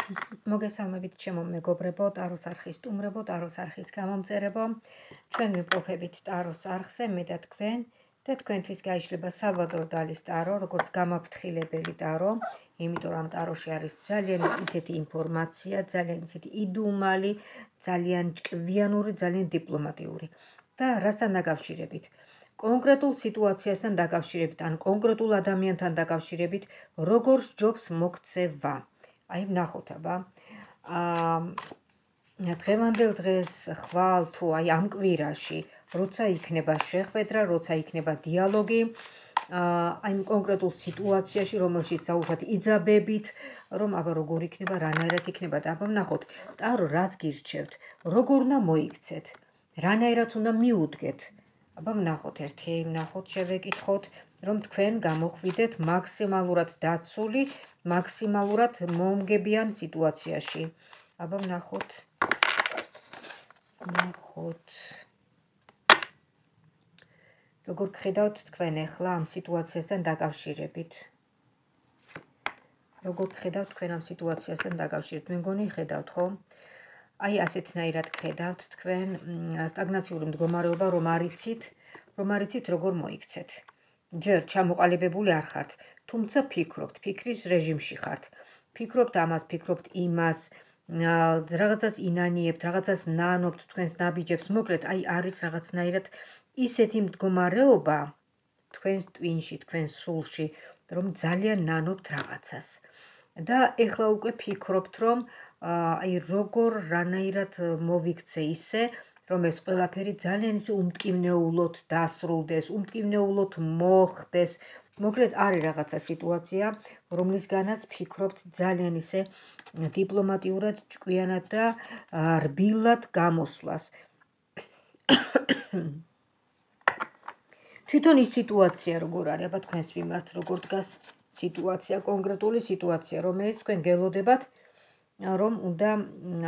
მოგესალმებით ჩემო მეგობრებო, ტაროს არხის სტუმრებო, ტაროს არხის გამომწერებო. ჩვენ ვიპროფებით ტაროს არხზე, მე და თქვენთვის გაიშლება სალვადორ დალის ტარო, როგორც გამაფრთხილებელი ტარო, იმიტომ რომ ტაროში არის ძალიან ისეთი ინფორმაცია, ძალიან ისეთი იდუმალი, ძალიან ჭკვიანური, ძალიან დიპლომატიური. და რასთან დაკავშირებით? კონკრეტულ სიტუაციასთან დაკავშირებით, ან კონკრეტულ ადამიანთან დაკავშირებით, როგორ სჯობს მოქცევა. აი ვნახოთ აბა. დღევანდელ დღეს ხვალ თუ აი ამ კვირაში, როცა იქნება შეხვედრა, როცა იქნება დიალოგი, აი კონკრეტულ სიტუაციაში, რომელშიც საუბრობთ იძაბებით, რომ აბა როგორ იქნება, რანაირად იქნება და აბა ვნახოთ, ტარო რას გირჩევთ, როგორ უნდა მოიქცეთ, რანაირად უნდა მიუდგეთ. აბა ვნახოთ ერთი, ვნახოთ, შევეკითხოთ, რომ თქვენ გამოხვიდეთ მაქსიმალურად დაცული, მაქსიმალურად მომგებიან სიტუაციაში. აბა ვნახოთ. როგორ გხედავთ თქვენ ახლა ამ სიტუაციასთან დაკავშირებით? როგორ გხედავთ თქვენ ამ სიტუაციასთან დაკავშირებით? მე მგონი ხედავთ, ხო? აი ასეთნაირად გხედავთ თქვენ სტაგნაციური მდგომარეობა, რომ არიცით როგორ მოიქცეთ. ჯერ ჩამოყალიბებული არ ხართ, თუმცა ფიქრობთ, ფიქრის რეჟიმში ხართ. ფიქრობთ ამას, ფიქრობთ იმას, რაღაცას ინანიებთ, რაღაცას ნანობთ თქვენს ნაბიჯებს, მოკლედ აი არის რაღაცნაირად ისეთი მდგომარეობა თქვენს ტვინში, თქვენს სულში, რომ ძალიან ნანობთ რაღაცას. და ეხლა უკვე ფიქრობთ, რომ აი როგორ რანაირად მოვიქცე ისე, რომ ეს ყველაფერი ძალიან ისე უმტკივნეულოდ დასრულდეს, უმტკივნეულოდ მოხდეს. მოკლედ არის რაღაცა სიტუაცია, რომლისგანაც ფიქრობთ ძალიან ისე დიპლომატიურად, ჭკვიანად და რბილად გამოსვლას. თვითონ ის სიტუაცია როგორ არის, აბა თქვენს მიმართ როგორ დგას სიტუაცია, კონკრეტული სიტუაცია, რომელიც თქვენ გელოდებათ, რომ უნდა,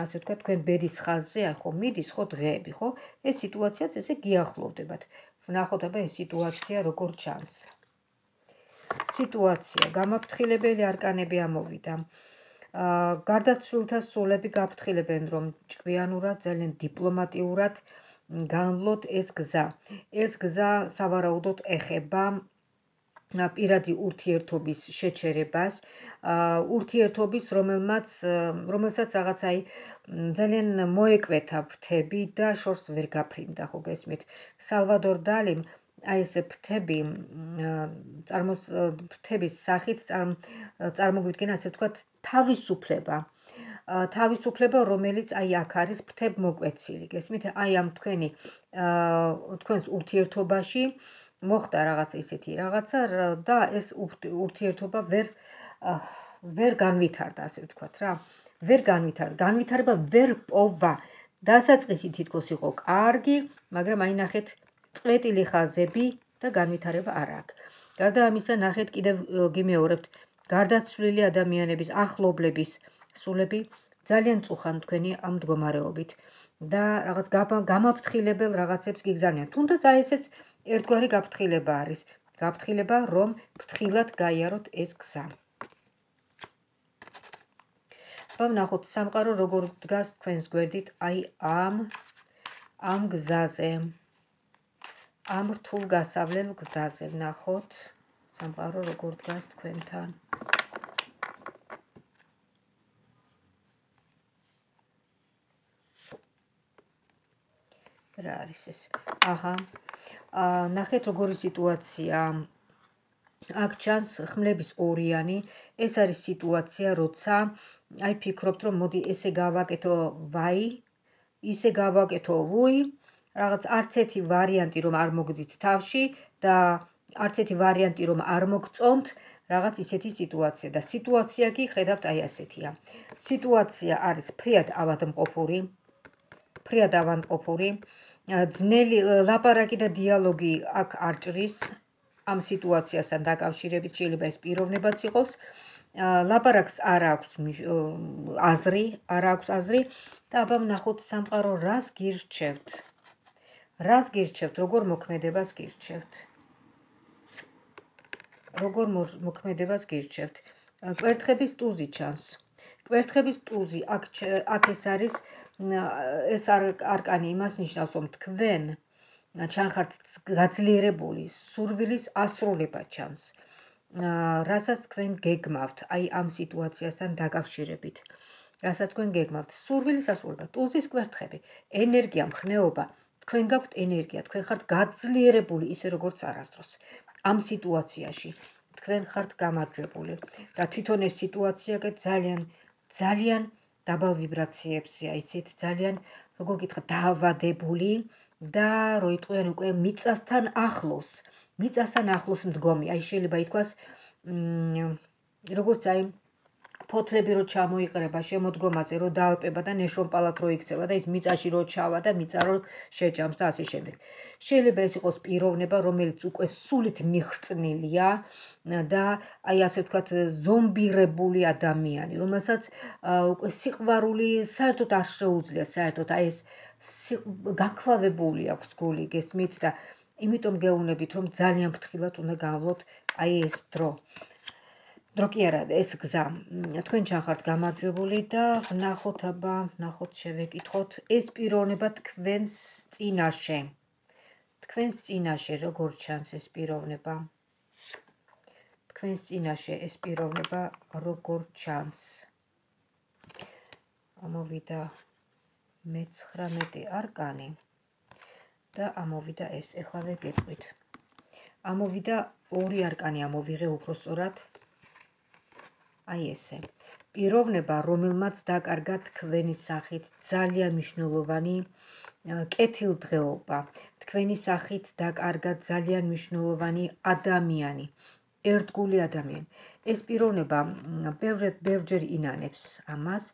ასე ვთქვათ, თქვენ ბედის ხაზზე, ხო, მიდის, ხო, დღეები, ხო? ეს სიტუაციაც ესე გიახლოვდებათ. ვნახოთ აბა ეს სიტუაცია როგორ ჩანს. სიტუაცია, გამაფრთხილებელი არკანები ამოვიდა. გარდაცვლილთა სულები გაფრთხილებენ, რომ ჭკვიანურად, ძალიან დიპლომატიურად განვლოთ ეს გზა. ეს გზა სავარაუდოდ ეხება პირადი ურთიერთობის შეჩერებას, ურთიერთობის, რომელსაც რაღაც აი ძალიან მოეკვეთა ფრთები და შორს ვერ გაფრინდა, ხო გესმით? სალვადორ დალიმ აი ეს ფრთების სახით წარმოგვიდგენა, ასე ვთქვათ, თავისუფლება, რომელიც აი აქ არის ფრთებმოკვეცილი, გესმით? აი ამ თქვენს ურთიერთობაში მოხდა რაღაც ისეთი რაღაცა და ეს ურთიერთობა ვერ განვითარდა, ასე ვთქვათ რა. ვერ განვითარდა, განვითარება ვერ პოვა. დასაწყისი თითქოს იყო კარგი, მაგრამ აი ნახეთ წვეტილი ხაზები და განვითარება არ აქვს. გარდა ამისა, ნახეთ კიდევ გიმეორებთ, გარდაცვლილი ადამიანების, ახლობლების სულები ძალიან წუხან თქვენი ამ მდგომარეობით და რაღაც გამაფრთხილებელ რაღაცებს გიგზავნიან. თუნდაც აი ესეც ერთგვარი გაფრთხილება არის. გაფრთხილება, რომ ფრთხილად გაიაროთ ეს გზა. ვნახოთ სამყარო როგორ დგას თქვენს გვერდით აი ამ გზაზე. ამ რთულ გასავლელ გზაზე ვნახოთ სამყარო როგორ დგას თქვენთან. რა არის ეს? ნახეთ როგორი სიტუაცია. აქ ჩანს ხმლების ორიანი, ეს არის სიტუაცია, როცა აი ფიქრობთ, რომ მოდი ესე გავაკეთო ვაი, ისე გავაკეთო ვუი, რაღაც არც ერთი ვარიანტი რომ არ მოგდით თავში და არც ერთი ვარიანტი რომ არ მოგწონთ, რაღაც ისეთი სიტუაცია და სიტუაცია კი ხედავთ აი ასეთია. სიტუაცია არის ფრიად ავადმყოფური, ძნელი ლაპარაკი და დიალოგი აქ არ ჭრის ამ სიტუაციასთან დაკავშირებით, შეიძლება ეს პიროვნებაც იყოს. ლაპარაკს არ აქვს აზრი და აბა ვნახოთ სამყარო რას გირჩევთ. რას გირჩევთ, როგორ მოქმედებას გირჩევთ. როგორ მოქმედებას გირჩევთ. კვერთხების ტუზი ჩანს. კვერთხების ტუზი, აქ ეს არის ეს არკანი იმას ნიშნავს, რომ თქვენ ჩანხართ გაძლიერებული, სურვილის ასრულება ჩანს, რასაც თქვენ გეგმავთ, აი ამ სიტუაციასთან დაკავშირებით. რასაც თქვენ გეგმავთ, სურვილის ასრულება, ტუზის კვერთხები, ენერგია, მხნეობა, თქვენ გაქვთ ენერგია, თქვენ ხართ გაძლიერებული ისე როგორც არასდროს. ამ სიტუაციაში თქვენ ხართ გამარჯვებული და თვითონ ეს სიტუაცია ძალიან დაბალ ვიბრაციებზეა, იცით, ძალიან, როგორ გითხრათ, დაავადებული და რო იტყვიან უკვე მიწასთან ახლოს მდგომი. აი შეიძლება ითქვას, როგორც აი ფოთლები რო ჩამოიყრება შემოდგომაზე, რო დაალპება და ნეშომპალად რო იქცევა და ის მიწაში რო ჩავა და მიწა რო შეჭამს და ასე შემდეგ. შეიძლება ეს იყოს პიროვნება, რომელიც უკვე სულით მიხრწნილია და აი ასე ვთქვათ ზომბირებული ადამიანი, რომელსაც უკვე სიყვარული საერთოდ არ შეუძლია, საერთოდ აი ეს გაქვავებული აქვს გული, გესმით და იმიტომ გეუბნებით, რომ ძალიან ფრთხილად უნდა გავავლოთ აი ეს დრო. დრო კი არა, ეს გზა. თქვენ ჩანხართ გამარჯვებული და ვნახოთ, ვნახოთ, შევეკითხოთ ეს პიროვნება თქვენს წინაშე. თქვენს წინაშე როგორ ჩანს ეს პიროვნება? თქვენს წინაშე ეს პიროვნება როგორ ჩანს? ამოვიდა მე-19 არკანი და ამოვიდა ეს. ეხლა ვეგეტყვით. ამოვიდა ორი არკანი ამოვიღე უფრო სწორად. აი ესე. პიროვნება, რომელმაც დაკარგა თქვენი სახით ძალიან მნიშვნელოვანი კეთილდღეობა, თქვენი სახით დაკარგა ძალიან მნიშვნელოვანი ადამიანი, ერთგული ადამიანი. ეს პიროვნება ბევრჯერ ინანებს ამას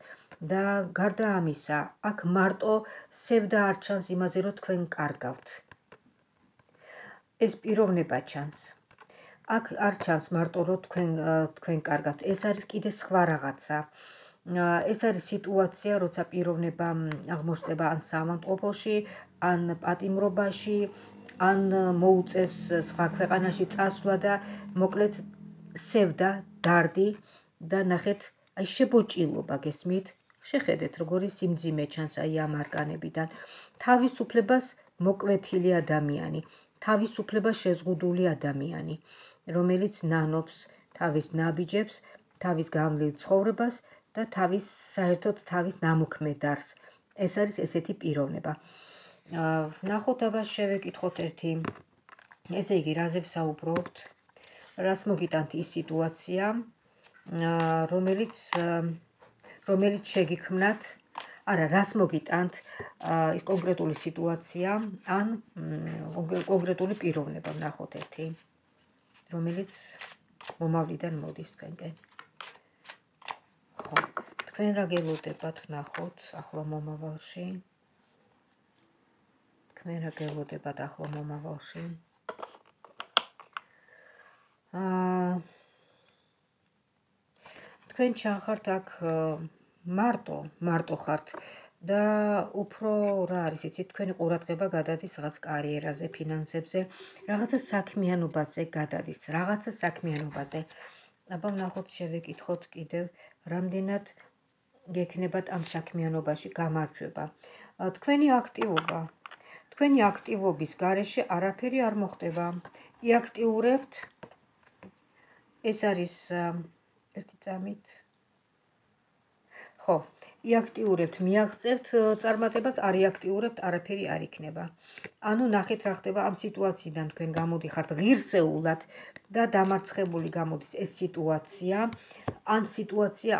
და გარდა ამისა, აქ მარტო სევდა არ ჩანს იმაზე, რომ თქვენ კარგავთ. ეს პიროვნება ჩანს. აქ არ ჩანს მარტო რომ თქვენ კარგავთ, ეს არის კიდე სხვა რაღაცა. ეს არის სიტუაცია, როცა პიროვნება აღმოჩნდება ან საავადმყოფოში, ან პატიმრობაში, ან მოუწევს სხვა ქვეყანაში წასვლა და მოკლედ სევდა, დარდი და ნახეთ, აი შებოჭილობა, გესმით? შეხედეთ, როგორი სიმძიმე ჩანს აი ამ არკანებიდან. თავისუფლებას მოკვეთილი ადამიანი, თავისუფლებას შეზღუდული ადამიანი, რომელიც ნანობს თავის ნაბიჯებს, თავის განვლილ ცხოვრებას და საერთოდ თავის ნამოქმედარს. ეს არის ესეთი პიროვნება. ვნახოთ, შევეკითხოთ ერთი. ესე იგი, რაზე ვსაუბრობთ? რას მოგიტანთ ის სიტუაცია, რომელიც შეგიქმნათ, არა, რას მოგიტანთ ის კონკრეტული სიტუაცია, ან კონკრეტული პიროვნება, ვნახოთ ერთი. რომელიც მომავლიდან მოდის თქვენკენ. ხო, თქვენ რა გელოდებათ, ვნახოთ ახლა მომავალში. თქვენ რა გელოდებათ ახლა მომავალში. თქვენ ჩანხართ აქ მარტო ხართ და უფრო რა არის იცით, თქვენი ყურადღება გადადის რაღაც კარიერაზე, ფინანსებზე, რაღაცა საქმიანობაზე გადადის, რაღაცა საქმიანობაზე. აბა ვნახოთ, შევეკითხოთ კიდევ, რამდენად გექნებათ ამ საქმიანობაში გამარჯვება. თქვენი აქტივობის გარეშე არაფერი არ მოხდება. იაქტიურებთ, ეს არის ერთი წამით. ხო, იაქტიურებთ, მიაღწევთ წარმატებას, არ იაქტიურებთ, არაფერი არ იქნება. ანუ ნახეთ რა ხდება ამ სიტუაციიდან თქვენ გამოდიხართ ღირსეულად და დამარცხებული გამოდის ეს სიტუაცია,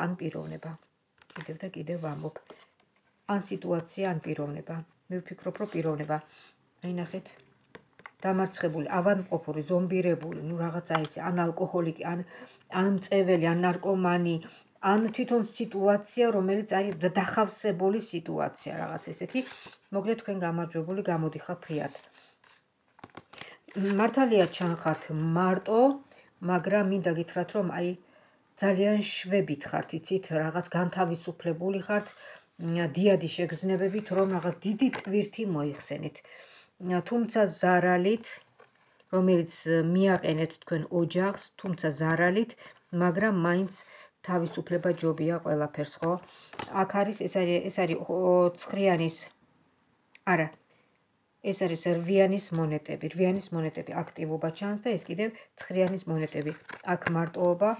ან პიროვნება. კიდევ და კიდევ ვამბობ. ან სიტუაცია, ან პიროვნება. მე ვფიქრობ, რომ პიროვნება. აი ნახეთ, დამარცხებული, ავადმყოფური, ზომბირებული, ნუ რაღაცა ესე, ან ალკოჰოლიკი, ან მწეველი, ან ნარკომანი, ან თვითონ სიტუაცია, რომელიც არის დახავსებული სიტუაცია, რაღაც ესეთი. მოკლედ თქვენ გამარჯვებული გამოდიხარ ფრიად. მართალია ჩანხართ მარტო, მაგრამ მინდა გითხრათ, რომ აი ძალიან შვებით ხართ, იცით, რაღაც განთავისუფლებული ხართ, დიადი შეგრძნებებით, რომ რაღაც დიდი ტვირთი მოიხსენით. თუმცა ზარალით, რომელიც მიაყენეთ თქვენ ოჯახს, თუმცა ზარალით, მაგრამ მაინც თავისუფლება ჯობია ყველაფერს, ხო? აქ არის ეს არის ცხრიანის არა ეს არის რვიანის მონეტები. რვიანის მონეტები აქტივობა ჩანს და ეს კიდევ ცხრიანის მონეტები. აქ მარტოობა,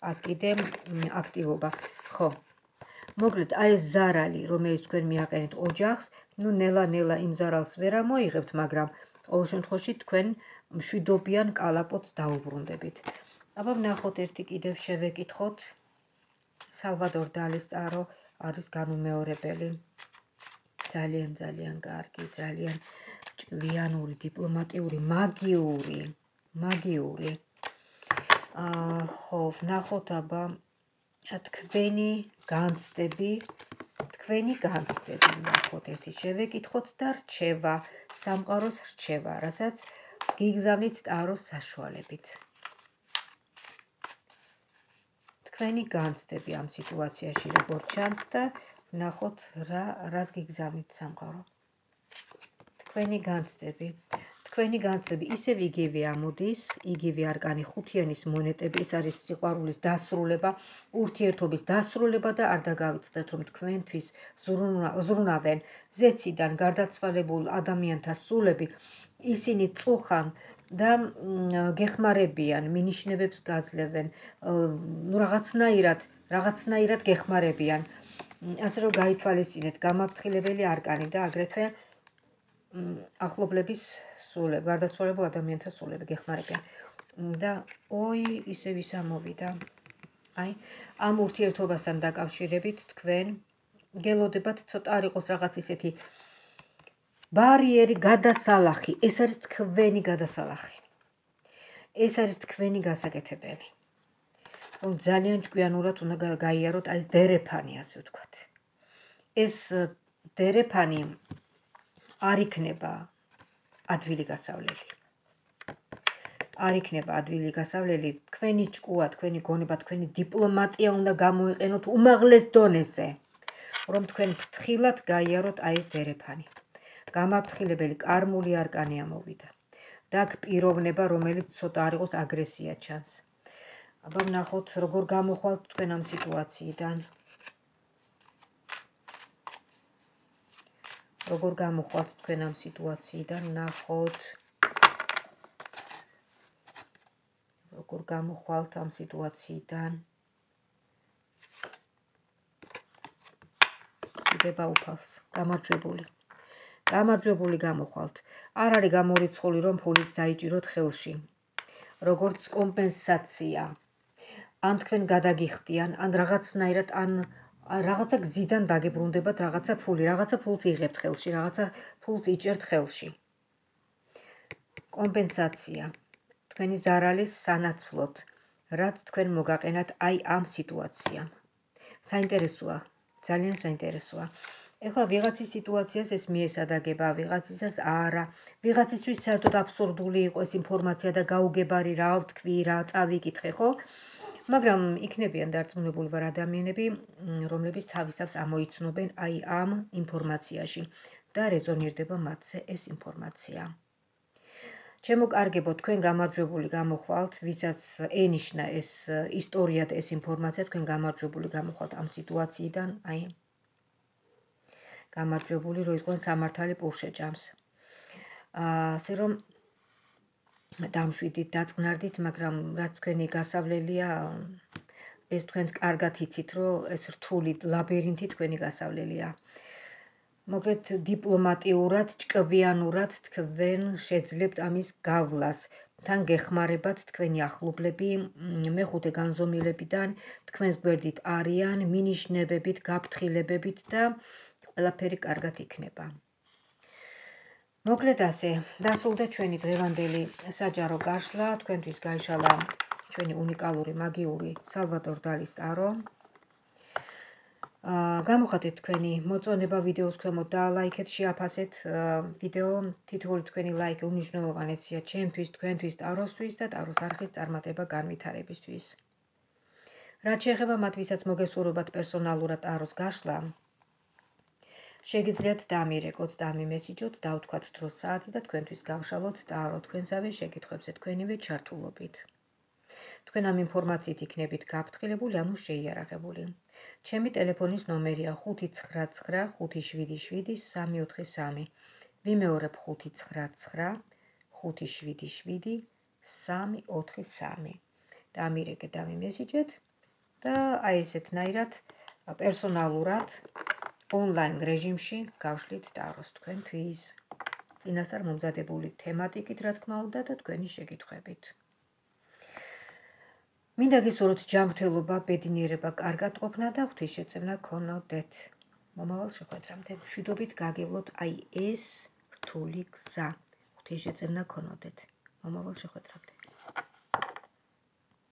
აქ კიდევ აქტივობა. ხო. მოკლედ, აი ეს ზარალი, რომელიც თქვენ მიაყენეთ ოჯახს, ნუ ნელა-ნელა იმ ზარალს ვერ ამოიღებთ, მაგრამ ყოველ შემთხვევაში თქვენ მშვიდობიან კალაპოტს დაუბრუნდებით. აბა ვნახოთ ერთი კიდევ შევეკითხოთ. სალვადორ დალის ტარო არის განუმეორებელი. ძალიან კარგი, ძალიან ჭკვიანური, დიპლომატიური, მაგიური. ხო, ვნახოთ აბა თქვენი განცდები, ვნახოთ ერთი შევეკითხოთ და რჩევა, სამყაროს რჩევა, რასაც გიგზავნით ტაროს საშუალებით. თქვენი განცდები ამ სიტუაციაში როგორ ჩანს და ვნახოთ რას გიგზავნით სამყარო. თქვენი განცდები ისევ იგივე ამოდის, იგივე არკანი ხუთიანის მონეტები, ეს არის სიყვარულის დასრულება, ურთიერთობის დასრულება და არ დაგავიწყდეთ, რომ თქვენთვის ზრუნავენ ზეციდან გარდაცვალებულ ადამიანთა სულები, ისინი წუხან და გეხმარებიან, მინიშნებებს გაძლევენ, რაღაცნაირად გეხმარებიან. ასე რომ გაითვალისწინეთ გამაფრთხილებელი არკანი და აგრეთვე ახლობლების სულები, გარდაცვალებულ ადამიანთა სულები გეხმარებიან. და ისევ ის ამოვიდა. აი, ამ ურთიერთობასთან დაკავშირებით თქვენ გელოდებათ ცოტა არ იყოს რაღაც ისეთი ბარიერი, გადასალახი. ეს არის თქვენი გადასალახი. ეს არის თქვენი გასაკეთებელი. რომ ძალიან ჭკვიანურად უნდა გაიაროთ აი ეს დერეფანი, ასე ვთქვათ. ეს დერეფანი არ იქნება ადვილი გასავლელი. თქვენი ჭკუა, თქვენი გონება, თქვენი დიპლომატია უნდა გამოიყენოთ უმაღლეს დონეზე, რომ თქვენ ფრთხილად გაიაროთ აი ეს დერეფანი. გამაფრთხილებელი კარმული არკანი ამოვიდა. და აქ პიროვნება, რომელიც ცოტა არ იყოს აგრესია ჩანს. აბა ვნახოთ როგორ გამოხვალთ თქვენ ამ სიტუაციიდან. ვნახოთ როგორ გამოხვალთ ამ სიტუაციიდან. დება უფალს, გამარჯვებული გამოხვალთ. არ არის გამორიცხული, რომ ფულით დაიჭიროთ ხელში. როგორც კომპენსაცია. ან თქვენ გადაგიხდიან, ან რაღაცნაირად, ან რაღაცა გზიდან დაგებრუნდებათ რაღაცა ფულს იღებთ ხელში, რაღაცა ფულს იჭერთ ხელში. კომპენსაცია. თქვენი ზარალის სანაცვლოდ, რაც თქვენ მოგაყენათ აი ამ სიტუაციამ. საინტერესოა, ძალიან საინტერესოა. ეხლა ვიღაცის სიტუაციას ეს მიესადაგება, ვიღაცისას არა, ვიღაცისთვის საერთოდ აბსურდული იყო ეს ინფორმაცია და გაუგებარი რა ვთქვი, რა წავიკითხე, ხო? მაგრამ იქნებიან დარწმუნებული ვარ ადამიანები, რომლებიც თავის თავს ამოიცნობენ აი ამ ინფორმაციაში და რეზონირდება მათზე ეს ინფორმაცია. ჩემო კარგებო, თქვენ გამარჯვებული გამოხვალთ, ვისაც ენიშნა ეს ისტორია და ეს ინფორმაცია, თქვენ გამარჯვებული გამოხვალთ ამ სიტუაციიდან, აი გამარჯვებული, რომ იყვნენ სამართალი პურშეჭამს. ასე რომ დამშვიდით, დაწყნარდით, მაგრამ რაც თქვენი გასავლელია, ეს თქვენს კარგად იცით, რომ ეს რთული ლაბირინთი თქვენი გასავლელია. მოკლედ დიპლომატიურად, ჭკვიანურად თქვენ შეძლებთ ამის გავლას. თან გეხმარებათ თქვენი ახლობლები, მეხუთე განზომილებიდან, თქვენს გვერდით არიან, მინიშნებებით, გაფრთხილებებით და ყველაფერი კარგად იქნება. მოკლედ ასე, დასრულდა ჩვენი დღევანდელი საჯარო გაშლა, თქვენთვის გაიშალა ჩვენი უნიკალური მაგიური სალვადორ დალის ტარო. გამოხატეთ თქვენი მოწონება ვიდეოს ქვემოთ და ლაიქეთ, შეაფასეთ ვიდეო, თითოეული თქვენი ლაიქი უმნიშვნელოვანესია ჩემთვის, თქვენთვის, ტაროსთვის და ტაროს არხის წარმატება განვითარებისთვის. რაც შეეხება მათ, ვისაც მოგესურვებათ პერსონალურად ტაროს გაშლა, შეგიძლიათ დამირეკოთ, დამიმესიჯოთ, დავთქვათ დროს საათი და თქვენთვის გავშალოთ ტარო თქვენსავე შეკითხვებზე თქვენივე ჩართულობით. თქვენ ამ ინფორმაციით იქნებით გაფრთხილებული, ანუ შეიარაღებული. ჩემი ტელეფონის ნომერია 599 577 343. ვიმეორებ 599 577 343. დამირეკეთ, დამიმესიჯეთ და აი ესეთნაირად პერსონალურად ონლაინ რეჟიმში გავშლით ტაროს თქვენთვის. წინასწარ მომზადებული თემატიკით, რა თქმა უნდა, და თქვენი შეკითხვებით. მინდა გისურვოთ ჯანმრთელობა, ბედნიერება, კარგად ყოფნა და ღვთისშეწევნა გქონოდეთ. მომავალ შეხვედრამდე. მშვიდობით გაგევლოთ აი ეს რთული გზა. ღვთისშეწევნა გქონოდეთ. მომავალ შეხვედრამდე.